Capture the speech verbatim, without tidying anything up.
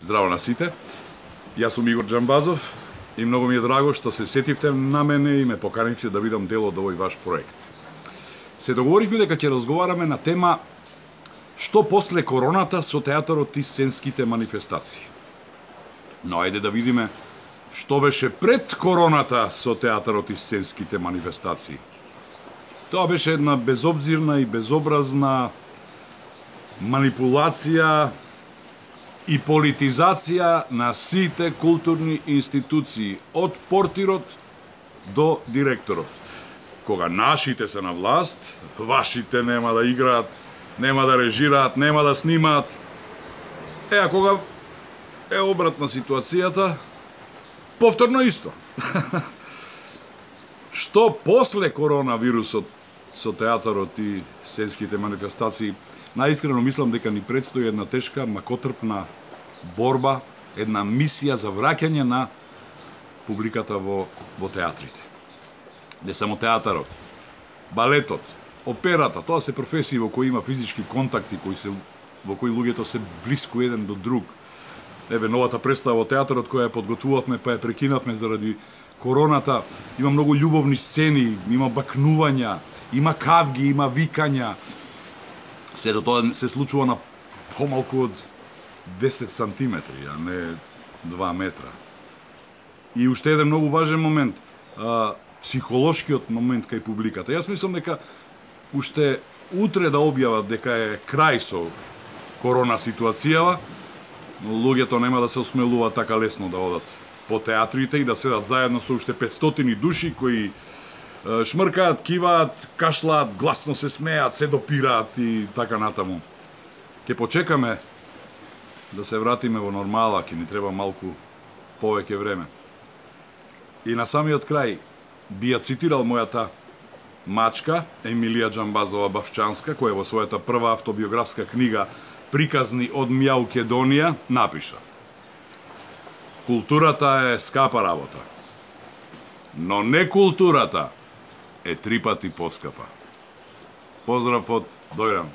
Здраво на сите. Јас сум Игор Џамбазов и многу ми е драго што се сетивте на мене и ме поканивте да бидам дел од овој ваш проект. Се договоривме дека ќе разговараме на тема што после короната со театарот и сценските манифестации. Но ајде да видиме што беше пред короната со театарот и сценските манифестации. Тоа беше една безобзирна и безобразна манипулација и политизација на сите културни институции, од портирот до директорот. Кога нашите се на власт, вашите нема да играат, нема да режираат, нема да снимаат. Е, а кога е обратна ситуацијата, повторно исто. Што после коронавирусот со театарот и сценските манифестации, наискрено мислам дека ни предстои една тешка, макотрпна борба, една мисија за враќање на публиката во, во театрите. Не само театарот, балетот, операта, тоа се професии во кои има физички контакти, кои се, во кои луѓето се блиску еден до друг. Еве, новата представа во театарот која ја подготвувавме, па ја прекинавме заради короната, има многу љубовни сцени, има бакнувања, има кавги, има викања. Сето тоа се случува на помалку од десет сантиметри, а не два метра. И уште еден многу важен момент, а, психолошкиот момент кај публиката. Јас мислам дека уште утре да објават дека е крај со корона ситуацијава, но луѓето нема да се осмелуваат така лесно да одат по театрите и да седат заедно со уште петстотини души кои шмркаат, киваат, кашлаат, гласно се смеат, се допираат и така натаму. Ке почекаме да се вратиме во нормала, ке ни треба малку повеќе време. И на самиот крај би ја цитирал мојата мачка, Емилија Џамбазова Бавчанска, која во својата прва автобиографска книга Приказни од Мјаукедонија напиша: културата е скапа работа, но не културата е три пати поскапа. Поздрав од Дојран.